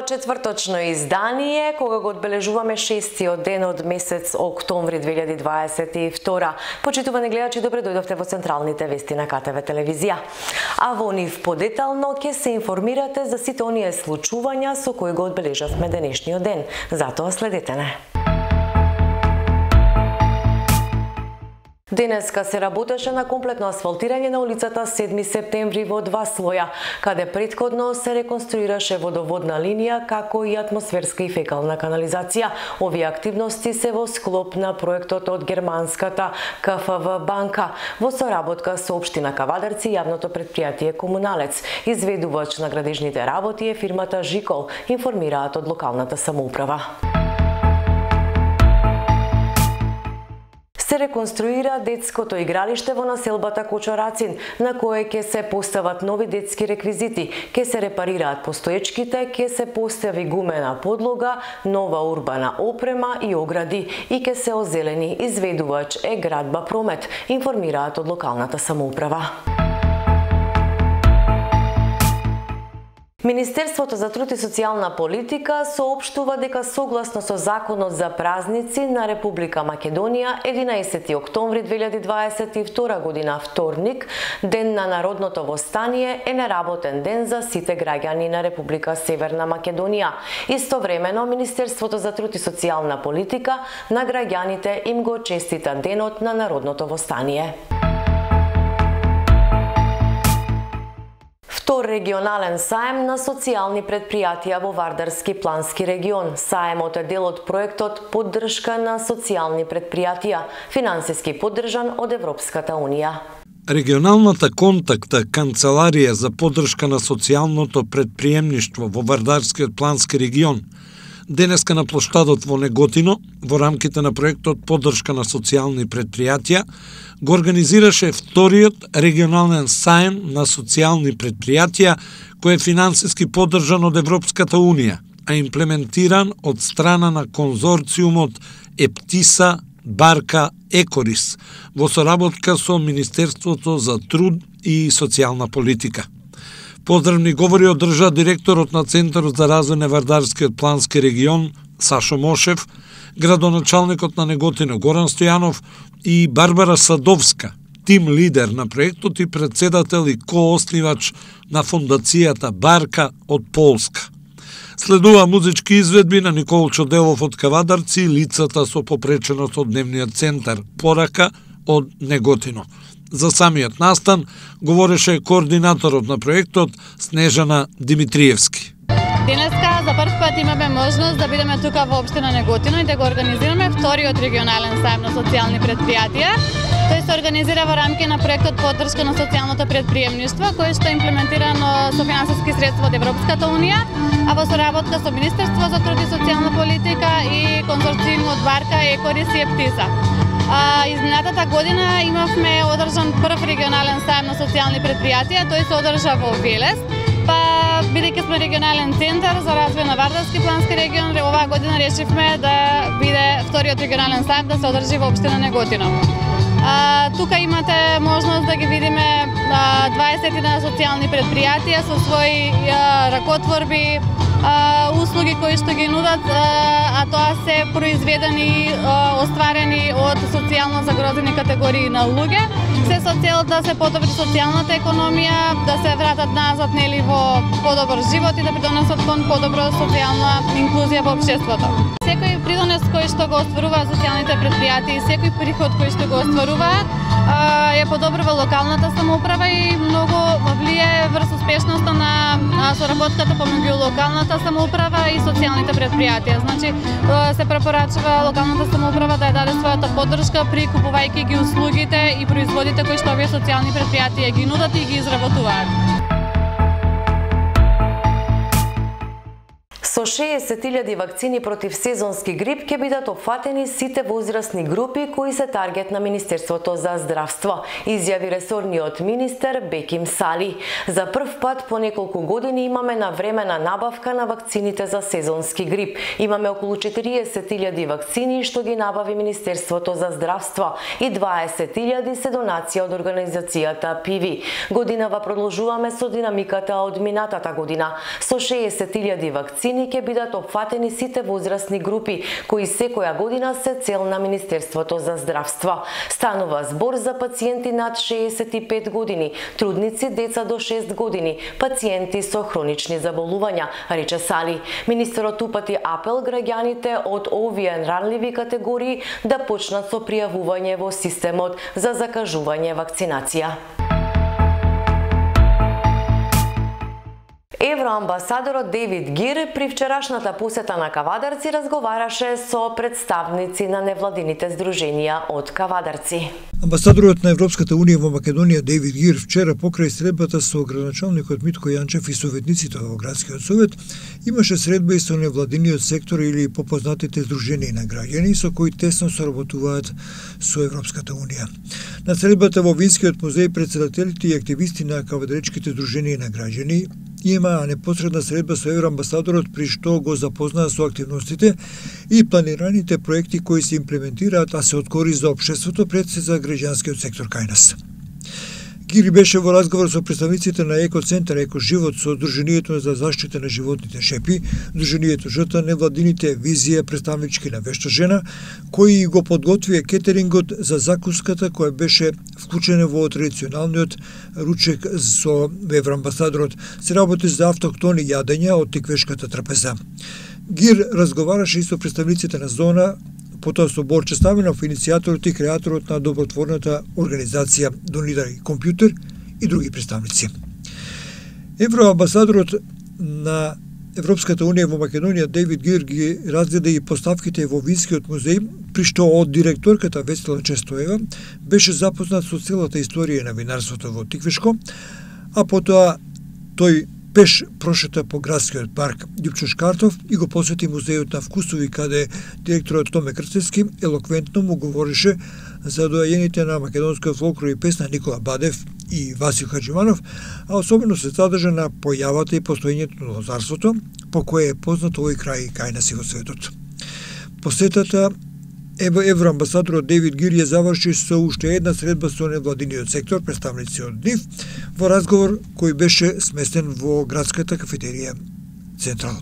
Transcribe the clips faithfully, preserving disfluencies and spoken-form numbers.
четврточно издание, кога го одбележуваме шестиот ден од месец октомври две илјади дваесет и втора. Почитувани гледачи, добре дојдовте во централните вести на Ка Те Ве телевизија. А во нив подетално ќе се информирате за сите оние случувања со кои го одбележавме денешниот ден. Затоа следете не. Денеска се работеше на комплетно асфалтирање на улицата седми септември во два слоја, каде претходно се реконструираше водоводна линија, како и атмосферска и фекална канализација. Овие активности се во склоп на проектот од германската Ка Ф В банка, во соработка со општина Кавадарци и јавното претпријатие Комуналец. Изведувач на градежните работи е фирмата Жикол, информираат од локалната самоуправа. Се реконструира детското игралиште во населбата Кочорацин, на кое ќе се постават нови детски реквизити, ќе се репарираат постоечките, ќе се постави гумена подлога, нова урбана опрема и огради и ќе се озелени. Изведувач е Градба Промет, информираат од локалната самоуправа. Министерството за труд и социјална политика соопштува дека согласно со Законот за празници на Република Македонија, единаесети октомври две илјади дваесет и втора година, вторник, ден на Народното востание, е неработен ден за сите граѓани на Република Северна Македонија. Истовремено, Министерството за труд и социјална политика на граѓаните им го честита денот на Народното востание. Втор регионален саем на социјални предпријатија во Вардарски плански регион. Саемот е дел од проектот Поддршка на социјални предпријатија, финансиски поддржан од Европската унија. Регионалната контакта Канцеларија за поддршка на социјалното предприемништво во Вардарскиот плански регион денеска на плоштадот во Неготино, во рамките на проектот Поддршка на социјални предпријатија, го организираше вториот регионален саем на социјални предпријатија, кој е финансиски поддржан од Европската унија, а имплементиран од страна на конзорциумот Ептиса Барка Екорис во соработка со Министерството за труд и социјална политика. Поздравни говори одржа директорот на Центарот за развој на Вардарскиот плански регион Сашо Мошев, градоначалникот на Неготино Горан Стојанов и Барбара Садовска, тим лидер на проектот и председател и кооснивач на фондацијата Барка од Полска. Следува музички изведби на Николчо Делов од Кавадарци и лицата со попреченост од дневниот центар Порака од Неготино. За самиот настан говореше координаторот на проектот Снежана Димитриевски. Денеска за прв пат имаме можност да бидеме тука во општина Неготино и да го организираме вториот регионален саем на социјални предпријатија. Тој се организира во рамки на проектот Поддршка на социјалното предприемништво, кој што е имплементирано со финансиски средства од Европската унија, а во соработка со Министерство за труд и социјална политика и конзорциумот Барка, Екорис и Ептиса. А, изминатата година имавме одржан прв регионален саем на социјални предпријатија, тој се одржа во Велес. Па, бидејќи сме регионален центар за развој на Вардарски плански регион, оваа година решивме да биде вториот регионален саем да се одржи во општина Неготино. А, тука имате можност да ги видиме дваесет на социјални предпријатија со своји а, ракотворби, а, услуги кои што ги нудат, а, а тоа се произведени, а, остварени од социјално загрозени категории на луѓе, се со цел да се подобри социјалната економија, да се вратат назад нели во подобар живот и да придонесат кон подобро социјална инклузија во општеството. Секој придонес кој што го остваруваат социјалните предпријатија и секој приход кој што го остваруваат е подобрува локалната самоуправа и многу влијае врз успешноста на соработката помеѓу локалната самоуправа и социјалните предпријатија. Значи се препорачува локалната самоуправа да ја даде својата поддршка при купувајќи ги услугите и производите кои што овие социјални предпријатија ги нудат и ги изработуваат. Со шеесет илјади вакцини против сезонски грип ќе бидат опфатени сите возрастни групи кои се таргет на Министерството за здравство, изјави ресорниот министер Беким Сали. За прв пат по неколку години имаме навремена набавка на вакцините за сезонски грип. Имаме околу четириесет илјади вакцини што ги набави Министерството за здравство и дваесет илјади се донација од организацијата Пиви. Годинава продолжуваме со динамиката од минатата година. Со шеесет илјади вакцини ќе бидат опфатени сите возрастни групи, кои секоја година се цел на Министерството за здравство. Станува збор за пациенти над шеесет и пет години, трудници, деца до шест години, пациенти со хронични заболувања, рече Сали. Министерот упати апел граѓаните од овие ранливи категории да почнат со пријавување во системот за закажување вакцинација. Евроамбасадорот Дейвид Гир при вчерашната посета на Кавадарци разговараше со представници на невладините здруженија од Кавадарци. Амбасадорот на Европската унија во Македонија Дейвид Гир вчера покрај средбата со градоначалникот Митко Јанчев и советниците во градскиот совет имаше средба и со невладиниот сектор или попознатите здруженија на граѓани со кои тесно соработуваат со Европската унија. На средбата во Винскиот музеј председателите и активисти на кавадаречките здруженија на граѓани имаа непосредна средба со евроамбасадорот при што го запознаа со активностите и планираните проекти кои се имплементираат, а се од корист за општеството пред се за граѓанскиот сектор кај нас. Гири беше во разговор со представниците на Екоцентар Екоживот, со Здруженијето за заштита на животните Шепи, Здруженијето Жта, невладините Визија, представнички на Вешта жена, кои го подготвија кетерингот за закуската која беше вклучена во традиционалниот ручек со евроамбасадорот. Се работи за автохтони јадења од тиквешката трапеза. Гир разговараше и со представниците на зона, потоа со Борче Ставенов, иницијаторот и креаторот на добротворната организација Донирај компјутер и други представници. Евроамбасадорот на Европската унија во Македонија Дейвид Гир ги разгледа и поставките во Винскиот музеј, при што од директорката Весела Честоева беше запознат со целата историја на винарството во Тиквешко, а потоа тој пеш прошета по градскиот парк Љупчо Шкартов и го посети музејот на вкусови, каде директорот Томе Крцевски елоквентно му говорише за доајените на македонскиот фолклор и песна Никола Бадев и Васил Хаџиманов, а особено се задржа на појавата и постоењето на лозарството, по кое е познат овој крај кај нас и во светот. Посетата евроамбасадорот Дейвид Гир ја заврши со уште една средба со невладиниот сектор, представници од НИФ, во разговор кој беше сместен во градската кафетерија Централ.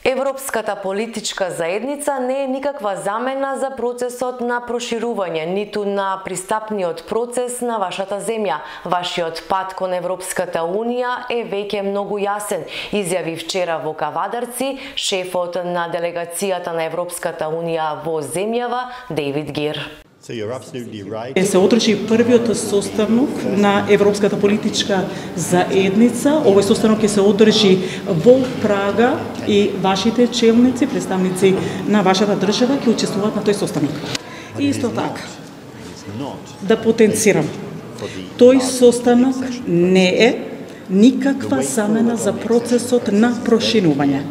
Европската политичка заедница не е никаква замена за процесот на проширување, ниту на пристапниот процес на вашата земја. Вашиот пат кон Европската унија е веќе многу јасен, изјави вчера во Кавадарци шефот на делегацијата на Европската унија во земјава Дейвид Гир. Се одржи првиот состанок на Европската политичка заедница. Овој состанок ќе се одржи во Прага и вашите челници, представници на вашата држава ќе учествуваат на тој состанок. И исто така, да потенцирам, тој состанок не е никаква замена за процесот на проширување.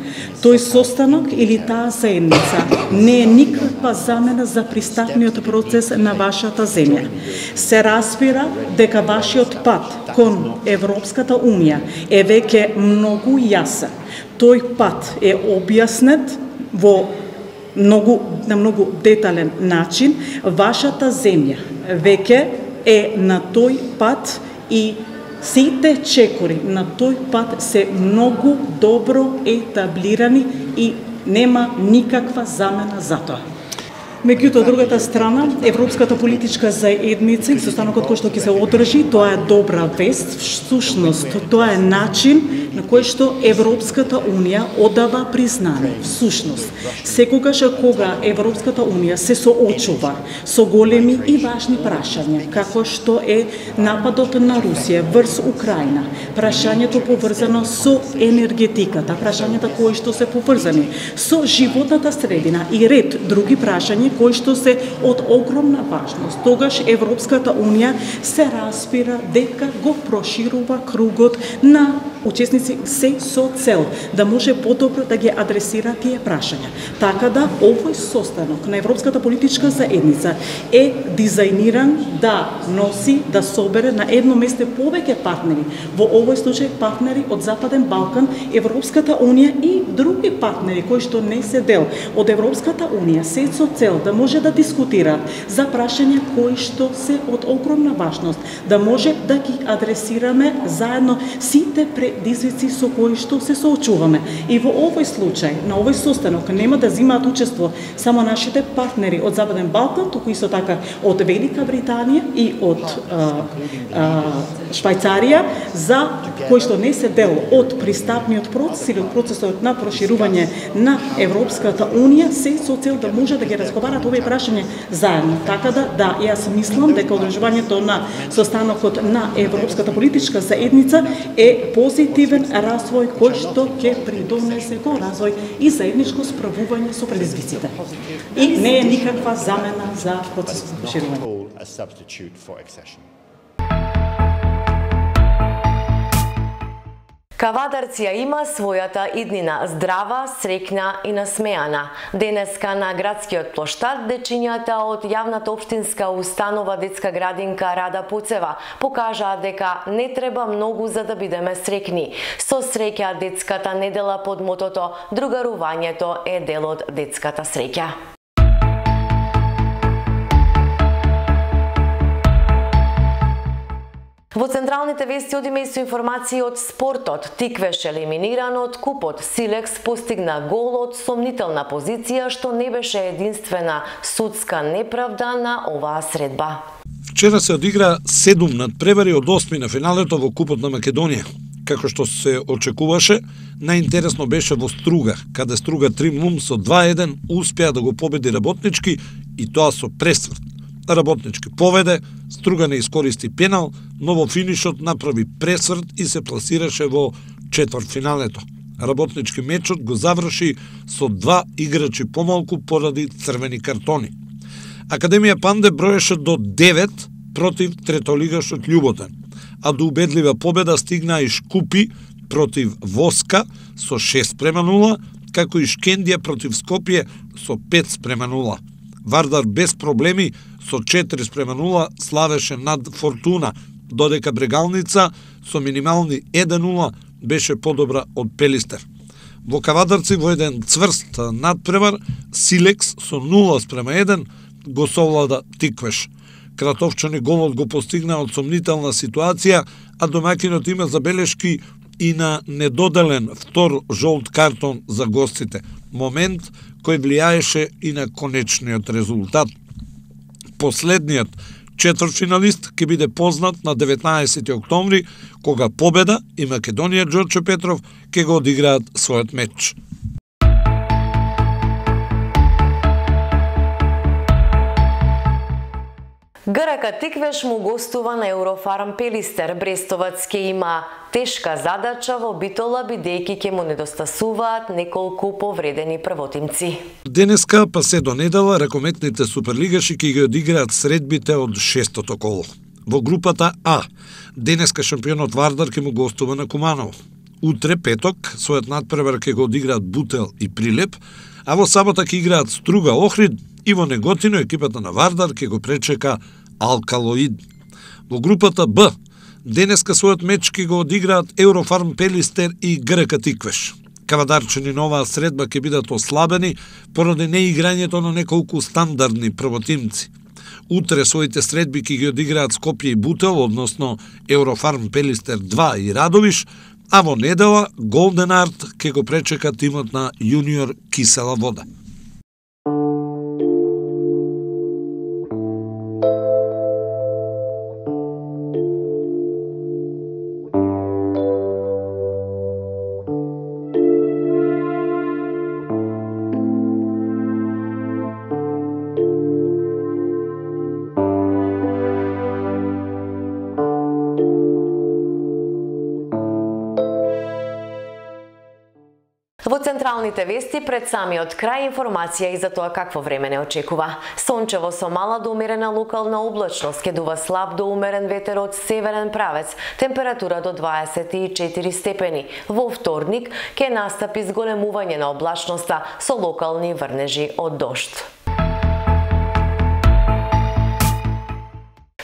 Тој состанок или таа заедница не е никаква замена за пристапниот процес на вашата земја. Се разбира дека вашиот пат кон Европската унија е веќе многу јасен. Тој пат е објаснет во многу на многу детален начин. Вашата земја веќе е на тој пат и сите чекори на тој пат се многу добро етаблирани и нема никаква замена за тоа. Меѓутоа, другата страна, Европската политичка заедница и состанокот кој што ќе се одржи, тоа е добра вест. Всушност, тоа е начин на кој што Европската унија одава признание. Всушност, секогаш кога Европската унија се соочува со големи и важни прашања, како што е нападот на Русија врз Украина, прашањето поврзано со енергетиката, прашањата кои што се поврзани со животната средина и ред други прашања кои што се од огромна важност. Тогаш Европската унија се разбира дека го проширува кругот на учесници се со цел да може подобро да ги адресира тие прашања. Така да овој состанок на Европската политичка заедница е дизајниран да носи, да собере на едно место повеќе партнери, во овој случај партнери од Западен Балкан, Европската унија и други партнери кои што не се дел од Европската унија, се со цел да може да дискутираат за прашања кои што се од огромна важност, да може да ги адресираме заедно сите предизвици со кои што се соочуваме. И во овој случај, на овој состанок нема да земаат учество само нашите партнери од Западен Балкан, туку исто така од Велика Британија и од а, а, Швајцарија, за кои што не се дел од пристапниот процес или од процесот на проширување на Европската Унија, се со цел да може да ги разговарат овие прашања заедно. Така да, да, јас мислам дека одржувањето на состанокот на Европската политичка заедница е позитивен развој кој што ќе придонесе кон развој и заедничко справување со предизвиците. И не е никаква замена за процесот на проширување. Кавадарци ја има својата иднина, здрава, среќна и насмеана. Денеска на градскиот плоштад дечињата од јавната општинска установа детска градинка Рада Пуцева покажаа дека не треба многу за да бидеме среќни. Со среќа детската недела под мотото "Другарувањето е дел од детската среќа". Во централните вести одиме и со информации од спортот. Тиквеш елиминиран од купот. Силекс постигна гол од сомнителна позиција, што не беше единствена судска неправда на оваа средба. Вчера се одигра седум надпревари од осми на финалето во Купот на Македонија. Како што се очекуваше, најинтересно беше во Струга, каде Струга Тримлум со два еден успеа да го победи Работнички и тоа со пресврт. Работнички поведе, Струга не искористи пенал, но во финишот направи пресврт и се пласираше во четвртфиналето. Работнички мечот го заврши со два играчи помалку поради црвени картони. Академија Панде броеше до девет против третолигашот Љуботен, а до убедлива победа стигна и Шкупи против Воска со шест спрема нула, како и Шкендија против Скопје со пет спрема нула. Вардар без проблеми со четири спрема нула славеше над Фортуна, додека Брегалница со минимални еден нула беше подобра од Пелистер. Во Кавадарци во еден цврст надпревар Силекс со нула спрема еден го совлада Тиквеш. Кратовчани голот го постигна од сомнителна ситуација, а домакинот има забелешки и на недоделен втор жолт картон за гостите. Момент кој влијаеше и на конечниот резултат. Последниот четвртфиналист ќе биде познат на деветнаесети октомври, кога Победа и Македонија Ѓорче Петров ќе го одиграат својот меч. ГРК Тиквеш му гостува на Еврофарм Пелистер. Брестовац ќе има тешка задача во Битола, бидејќи ќе му недостасуваат неколку повредени првотимци. Денеска, па се до недела, ракометните суперлигаши ќе ги одиграат средбите од шестото коло. Во групата А, денеска шампионот Вардар ќе му гостува на Куманово. Утре, петок, својот надпревар ќе го одиграат Бутел и Прилеп, а во сабота ќе играат Струга Охрид и во Неготино екипата на Вардар ќе го пречека Алкалоид. Во групата Б, денеска својот меч ќе го одиграат Еврофарм Пелистер и ГРК Тиквеш. Кавадарчани на оваа средба ќе бидат ослабени поради неиграњето на неколку стандардни првотимци. Утре своите средби ќе ги одиграат Скопје и Бутел, односно Еврофарм Пелистер два и Радовиш, а во недела Голден Арт ќе го пречека тимот на Јуниор Кисела Вода. Во централните вести пред самиот крај информација и за тоа какво време не очекува. Сончево со мала до умерена локална облачност, ќе дува слаб до умерен ветер од северен правец, температура до дваесет и четири степени. Во вторник ќе настапи зголемување на облачноста со локални врнежи од дожд.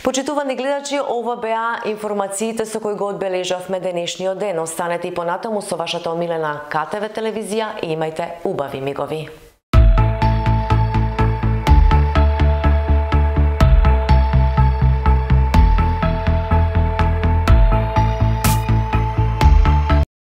Почитувани гледачи, ова беа информациите со кои го одбележавме денешниот ден. Останете и понатаму со вашата омилена ка те ве телевизија и имајте убави мигови.